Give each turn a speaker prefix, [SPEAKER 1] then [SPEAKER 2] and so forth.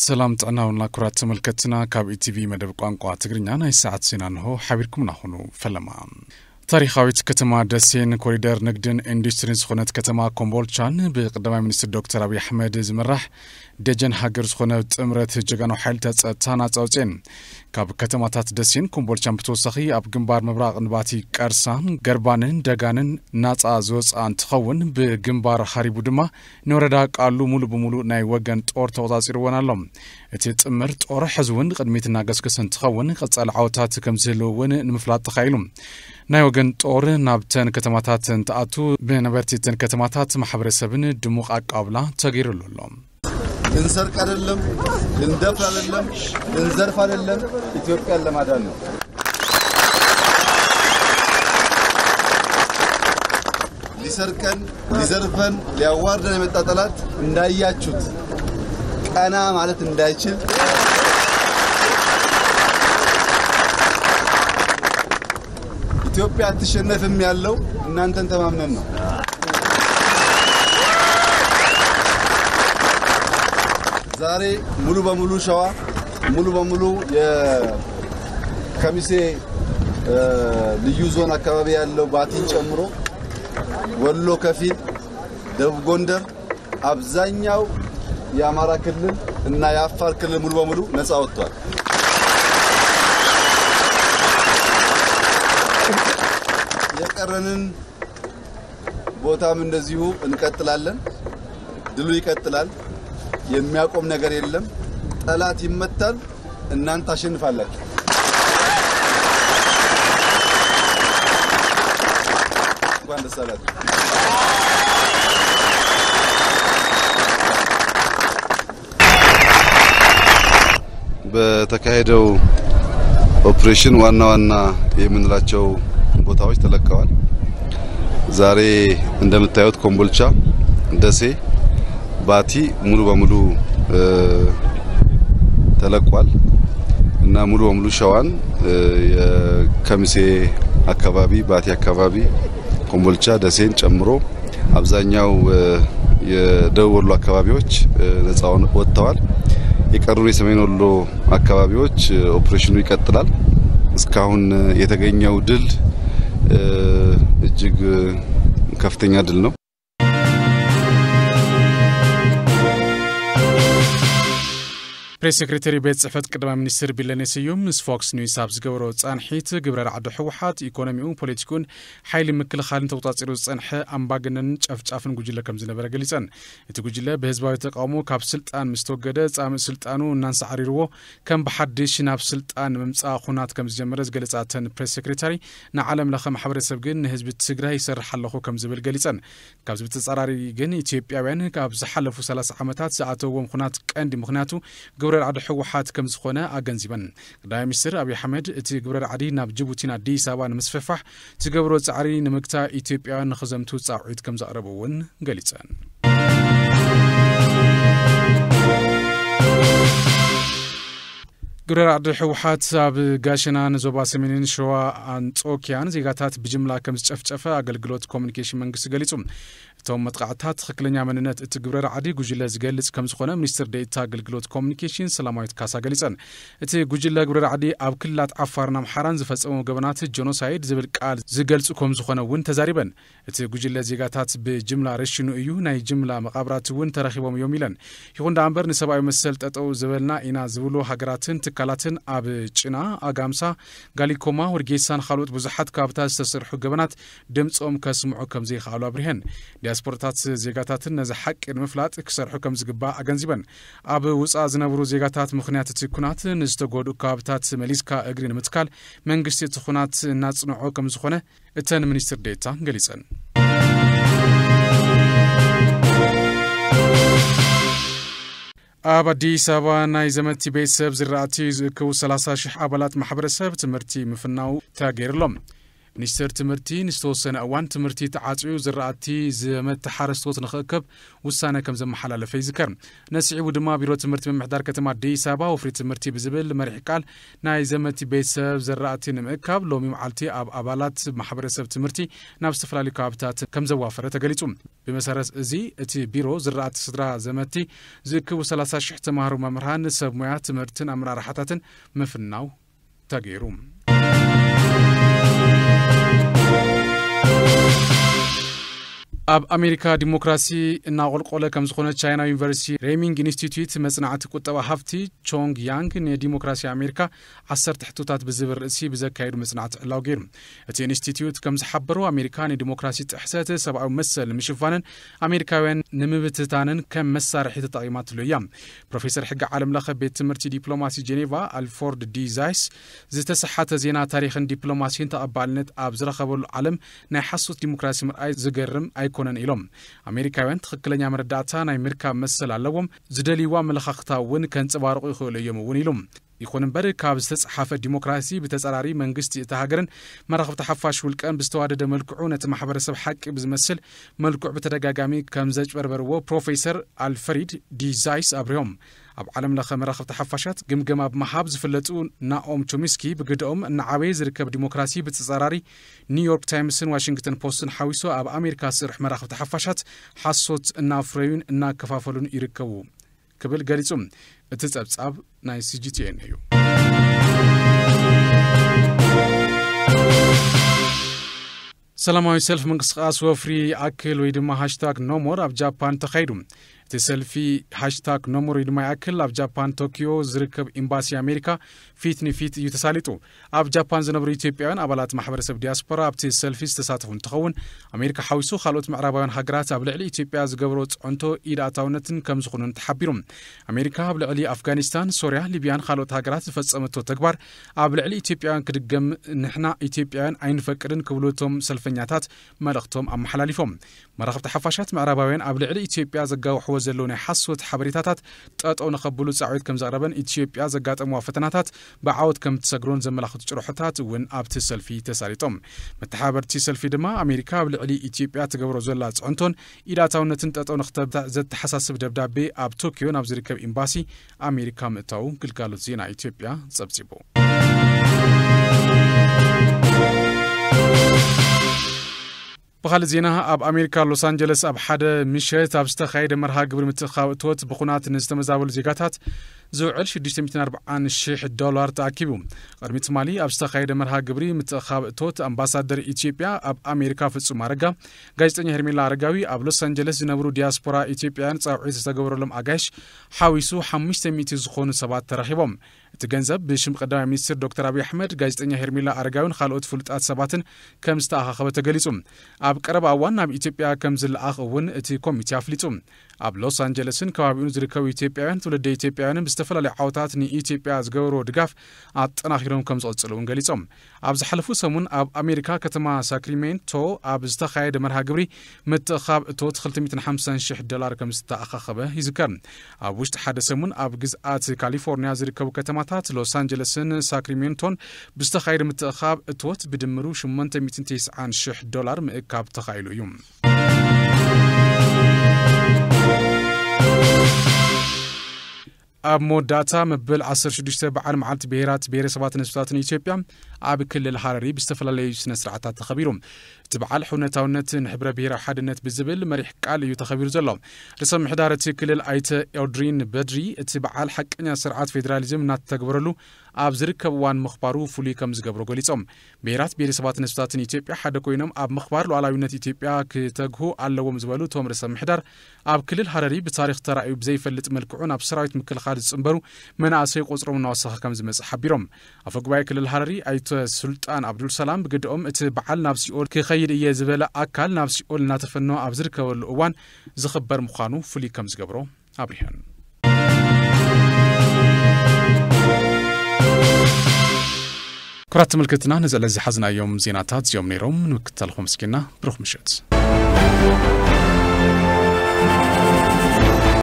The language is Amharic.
[SPEAKER 1] سلام تعناونا كرات ملكتنا كاب اي تي في مدب قانقوا تغرينا ناي ساعت سينانهو حبيركم ناخونو فلما تاريخاويت كتما دسين كوريدور نقدن اندسترين سخونت كتما كومبولشان بقدماء منستر دكتور أبي أحمد زمرح دجن هاجر سخونت امرت جغانو حيلتا تانا تاوتين كاب كتما تات دسين كومبولشان بتوسخي اب جنبار مبراق نباتي كارسان غربانن دغانن ناصا زوصان تخون بجنبار خريبو دما نوردا قالو مولو بمولو ناي وغن طور توزاصيروونالوم اتي تمر طور حزون قدميتنا غسكسن تخون قصال عوتات كمزلون نمفلاط تخايلوم ناي وغن طور نابتن كتماتات تاعتو بنبرتيتن كتماتات محبرسبن دموق اقابلا تغيرلولوم
[SPEAKER 2] انسرق አይደለም እንደፍ አይደለም እንዘርፍ አይደለም ኢትዮጵያን ለማዳን ነው ሊሰርቀን ሊዘርፈን ሊያዋርደን የመጣ ጠላት እንዳያችሁት ቀና ማለት እንዳይችል ኢትዮጵያ አትሸነፍም ያለው እናንተን ተማምነን ነው ዛሬ ሙሉ በሙሉ ሸዋ ሙሉ በሙሉ የከሚሴ ልዩ ዞን አካባቢ ያለው ባቲን ጨምሮ ወሎ ከፊል ደቡብ ጎንደር አብዛኛው የአማራ ክልል እና የአፋር ክልል ሙሉ በሙሉ ነፃ ወጥቷል የቀረንን ቦታም እንደዚሁ እንቀጥላለን ድሉ ይቀጥላል የሚያቆም ነገር የለም ጠላት ይመታል እናንተ አሸንፋላችሁ እንኳን ደስ አላችሁ በተካሄደው ኦፕሬሽን ዋና የምንላቸው ቦታዎች ተለቀዋል ዛሬ እንደምታዩት ኮምቦልቻ ደሴ ባቲ ሙሉ በሙሉ ተለቋል እና ሙሉ በሙሉ ሸዋን የከሚሴ አካባቢ ባቲ አካባቢ ኮምቦልቻ ደሴን ጨምሮ አብዛኛው የደቡብ ወሎ አካባቢዎች ነፃ ወጥተዋል የቀሩን የሰሜን ወሎ አካባቢዎች ኦፕሬሽኑ ይቀጥላል እስካሁን የተገኘው ድል እጅግ ከፍተኛ ድል ነው
[SPEAKER 1] بريس سكرتيري بيت صحفت قدما منستر بيلاني سيوم فوكس نيوز سابز غبرو صانحيت غبرر عدو حوحات ايكونوميو بوليتيكون حيل مكل خالن توطاصيرو صنح امباغنن ጨፍጫፍን ጉጅለ ከም ዝነበረ ገሊጸን እቲ ጉጅለ በህዝባዊ ተቃውሞ ካብ ስልጣን ምስተወገደ ጻም ስልጣኑ እናንሳዕሪርዎ ከም በሐድሽ ናብ ስልጣን መምጻ ኹናት ከም ዝጀመረ ዝገለጻተን ፕሬስ ሴክሬታሪ ንዓለም ለኸ ማሕበረሰብ ግን ህዝብ ትግራይ ይሰርሕ ኣለኹ ከም ዝብል ገሊጸን ካብ ዝብ ተጻራሪ ግን ኢትዮጵያውያን ካብ ዝሓለፉ 30 ዓመታት ዝኣተውዎም ኹናት ቀንዲ ምኽንያቱ غبرر عدو حوحات كم زخونه اغنزبن قدام مستر ابي احمد اتي غبرر عدي ناب جيبوتينا اديس ابا نمسففح تغبرو صعري نمكتا ايثيوبيان نخزمتو صاعيت كم زقربون غليصان غبرر عدو حوحات اب غاشنا نزوبا سمينين شوا انطوكيان زيغاتات بجملا كم زጨፍጨፈ አገልግሎት ኮሙኒኬሽን መንግስት ገሊጹም توم متقعتات خكلنيا مننت اتغبرر عدي ጉጅለ ዝገልጽ ከም ዝኾነ ሚኒስትር ዴኤታ አገልግሎት ኮሙኒኬሽን ሰላማዊት ካሳ ገሊጸን እቲ ጉጅለ ግብረር ዓዲ ኣብ ክልላት ዓፋርና ምሓራን ዝፈጸሙ ገበናት ጆኖሳይድ ዝብል ቃል ዝገልጽ ከም ዝኾነ ውን ተዛሪበን እቲ ጉጅለ ዜጋታት በጅምላ ረሽኑ እዩ ናይ ጅምላ መቃብራት ውን ተረኺቦም እዮም ኢለን ይኹን ዳንበር ንሰብኣዊ መሰል ጠጠው ዝበልና ኢና ዝብሉ ሃገራትን ትካላትን ኣብ ጭና ኣጋምሳ ጋሊኮማ ወርጌሳን ካልኦት ብዙሓት ካብታት ዝተሰርሑ ገበናት ድምጾም ከስምዑ ከም ዘይኻሉ ኣብሪሄን ዲያስፖራታት ዜጋታትን ነዚ ሓቂ ንምፍላጥ ክሰርሑ ከም ዝግባእ ኣገንዚበን ኣብ ውፃእ ዝነብሩ ዜጋታት ምኽንያት እቲ ኩናት ንዝተጎዱ ካብታት መሊስካ እግሪ ንምትካል መንግስቲ እቲ ኩናት እናጽንዖ ከም ዝኾነ እተን ሚኒስትር ዴኤታ ገሊጸን ኣብ አዲስ አበባ ናይ ዘመቲ ቤተሰብ ዝራእቲ ዝክው 30,000 ኣባላት ማሕበረሰብ ትምህርቲ ምፍናው ተገይርሎም ሚኒስትር ትምህርቲ ንስተወሰነ እዋን ትምህርቲ ተዓጽዩ ዝራእቲ ዘመት ሓረስቶት ንኽእከብ ውሳነ ከም ዘመሓላለፈ ይዝከር ነስዒቡ ድማ ቢሮ ትምህርቲ ምምሕዳር ከተማ አዲስ አበባ ወፍሪ ትምህርቲ ብዝብል መሪሕ ቃል ናይ ዘመት ቤተሰብ ዝራእቲ ንምእካብ ሎሚ መዓልቲ ኣብ አባላት ማሕበረሰብ ትምህርቲ ናብ ዝተፈላለዩ ከባቢታት ከም ዘዋፈረ ተገሊጹ ብመሰረት እዚ እቲ ቢሮ ዝራእቲ ስድራ ዘመቲ ዝእክቡ 30,000 ተማሃሮ መምህራን ሰብ ሞያ ትምህርትን ኣመራርሓታትን ምፍናው ተገይሩ ኣብ አሜሪካ ዲሞክራሲ እና ቆልቆለ ከም ዝኾነ ቻይና ዩኒቨርሲቲ ሬሚንግ ኢንስቲትዩት መጽናዕቲ ቁጠባ ሃፍቲ ቾንግ ያንግ ንዲሞክራሲ አሜሪካ 10 ሕቶታት ብዝብል ርእሲ ብዘካየዱ መጽናዕቲ ዕላው ገይሩ እቲ ኢንስቲትዩት ከም ዝሓበሩ አሜሪካ ንዲሞክራሲ ጥሕሰት ሰብኣዊ መሰል ምሽፋንን አሜሪካውያን ንምብትታንን ከም መሳርሒ ተጠቂማትሉ እያ ፕሮፌሰር ሕጊ ዓለም ለኸ ቤት ትምህርቲ ዲፕሎማሲ ጄኔቫ አልፎርድ ዲዛይስ ዝተሰሓተ ዜና ታሪኽን ዲፕሎማሲን ተቐባልነት ኣብ ዝረኸበሉ ዓለም ናይ ሓሶት ዲሞክራሲ ምርኣይ ዝገርም ኮነን ኢሎም አሜሪካውያን ትክክለኛ መረዳእታ ናይ ምርካብ መሰል ኣለዎም ዝደልይዋ መለኻኽታውን ከንጽባርቑ ይኽእሉ እዮም እውን ኢሎም ይኹን እምበር ካብ ዝተጻሓፈ ዲሞክራሲ ብተጸራሪ መንግስቲ እቲ ሃገርን መራኸብቲ ሓፋሽ ውልቀን ብዝተዋደደ መልክዑ ነቲ ማሕበረሰብ ሓቂ ብዝመስል መልክዑ በተደጋጋሚ ከም ዘጭበርበርዎ ፕሮፌሰር አልፍሬድ ዲዛይስ ኣብሪዮም ኣብ ዓለም ለኸ መራኸብቲ ሓፋሻት ግምገማ ብመሃብ ዝፍለጡ ናኦም ቾሚስኪ ብግድኦም ንዓበይ ዝርከብ ዲሞክራሲ ብተጸራሪ ኒውዮርክ ታይምስን ዋሽንግተን ፖስትን ሓዊሶ ኣብ አሜሪካ ስርሕ መራኸብቲ ሓፋሻት ሓሶት እናፍረዩን እናከፋፈሉን ይርከቡ ክብል ገሊጹም እቲ ጸብጻብ ናይ CGTN እዩ ሰላማዊ ሰልፍ ምንቅስቃስ ወፍሪ አክል ወይ ድማ #ኖሞር ኣብ ጃፓን ተኻይዱ እቲ ሰልፊ #ኖሞር ድማ አክል ኣብ ጃፓን ቶኪዮ ዝርከብ ኤምባሲ አሜሪካ ፊት ንፊት እዩ ተሳሊጡ ኣብ ጃፓን ዝነብሩ ኢትዮጵያውያን አባላት ማሕበረሰብ ዲያስፖራ ኣብቲ ሰልፊ ዝተሳተፉ እንትኸውን አሜሪካ ሓዊሱ ካልኦት ምዕራባውያን ሃገራት ኣብ ልዕሊ ኢትዮጵያ ዝገብሮ ጽዕንቶ ኢድ ኣታውነትን ከም ዝኾኑን ተሓቢሩ አሜሪካ ኣብ ልዕሊ አፍጋኒስታን ሶርያ ሊብያን ካልኦት ሃገራት ዝፈጸመቶ ተግባር ኣብ ልዕሊ ኢትዮጵያውያን ክድገም ንሕና ኢትዮጵያውያን ኣይንፈቅድን ክብሉቶም ሰልፈኛታት መልእኽቶም ኣመሓላሊፎም መራኸብቲ ሓፋሻት ምዕራባውያን ኣብ ልዕሊ ኢትዮጵያ ዘጋውሕዎ ዘሎ ናይ ሓሶት ሓበሬታታት ጠጠው ንኸብሉ ጻዕዊት ከም ዘቕረበን ኢትዮጵያ ዘጋጠምዋ ፈተናታት ብዓወት ከም ትሰግሮን ዘመላኽቱ ጭርሖታት እውን ኣብቲ ሰልፊ ተሳሪጦም መተሓበርቲ ሰልፊ ድማ አሜሪካ ኣብ ልዕሊ ኢትዮጵያ ትገብሮ ዘላ ጽዕንቶን ኢዳታውነትን ጠጠው ንኽተብታ ዘተሓሳስብ ደብዳቤ ኣብ ቶኪዮ ናብ ዝርከብ ኤምባሲ አሜሪካ ምእታው ግልጋሎት ዜና ኢትዮጵያ ጸብጺቡ بخال زينها أب أمريكا لوس أنجلس أب حدا مشيت أب استخايد مرها قبل متخاوتوت بخونات نستمزابل زيقاتات زوعل $640,000 تأكيبهم قرمت مالي أب استخايد مرها قبل متخاوتوت أمباسادر إثيوبيا أب أمريكا في السمارقة جايزتني هرميلا رجاوي أب لوس أنجلس نبرو دياسبورا إثيوبيان صاعد استجبروا لهم أجاش حاويسو 500 زخون سبات ترحيبهم تجنزب بشم قدام مينستر دكتور أبي أحمد جايزتني هرميلا رجاون خالوت فلتات سباتن كم استأخذ تجلسهم أب قرب أوان أب إثيوبيا كم زل أخون تي كوميتي أفليتهم أب لوس أنجلسن كوابين زركوا إثيوبيان تولد إثيوبيان بستفلا لعوتات ني إثيوبيا زجورو دقاف أتناخيرهم كم صلصلون جلسهم أب زحلفو سمون أب أمريكا كتما ساكريمنتو أب استخايد مرها قبري متخاب توت $550,000 كم استأخذه يذكر أب وشت حدا سمون أب جزءات كاليفورنيا زركوا كتماتات لوس أنجلسن ساكريمنتون بستخايد متخاب توت بدمرو $890,000 مئكاب تخايلو يوم أب موداتا مبل 16 بعالم عالت بيرات بيرسبات نسباتن إثيوبيا أب كل الحراري بستفلا سنسرعتات تخبيرهم تبعال حونتاونت نحبر بيرا حدنت بزبل مريح قال يتخبير زلهم رسم محدارة كل الآيت أودرين بدري تبعال حقنا سرعات فيدراليزم نات تقبرلو أب زركب وان مخبارو فولي كم زقبرو قليتهم بيرات بيرسبات نسباتن إثيوبيا حدا كوينم أب مخبار لو على يونت إثيوبيا كتجهو على ومزبلو توم رسم محدار أب كل الحراري بتاريخ ترى بزي فلت ملكعون أب سرايت مكل خالد صنبرو من أسيق قصرهم نواسخ كم زمز حبيرهم أفقباي كل الحراري آيت سلطان عبد السلام بقدهم تبعال نفسي أول خير يزبلا أكل نفسي أول ناتفنو أبزرك والأوان زخبر مخانو فلي كم زقبرو أبريهن كرات ملكتنا نزل زي حزنا يوم زيناتات يوم نيروم نكتلهم سكينا بروح مشت